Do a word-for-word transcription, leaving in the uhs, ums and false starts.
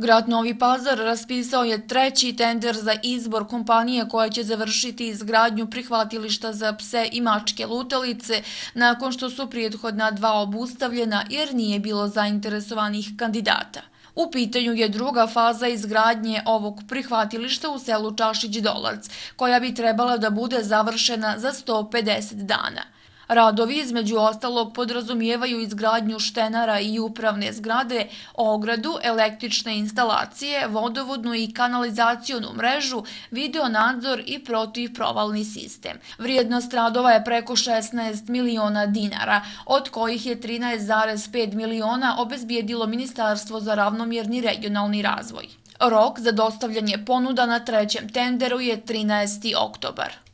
Grad Novi Pazar raspisao je treći tender za izbor kompanije koja će završiti izgradnju prihvatilišta za pse i mačke lutalice nakon što su prethodna dva obustavljena jer nije bilo zainteresovanih kandidata. U pitanju je druga faza izgradnje ovog prihvatilišta u selu Čašić-Dolac, koja bi trebala da bude završena za sto pedeset dana. Radovi između ostalog podrazumijevaju izgradnju štenara i upravne zgrade, ogradu, električne instalacije, vodovodnu i kanalizacionu mrežu, videonadzor i protivprovalni sistem. Vrijednost radova je preko šesnaest miliona dinara, od kojih je trinaest zarez pet miliona obezbijedilo Ministarstvo za ravnomjerni regionalni razvoj. Rok za dostavljanje ponuda na trećem tenderu je trinaesti oktobar.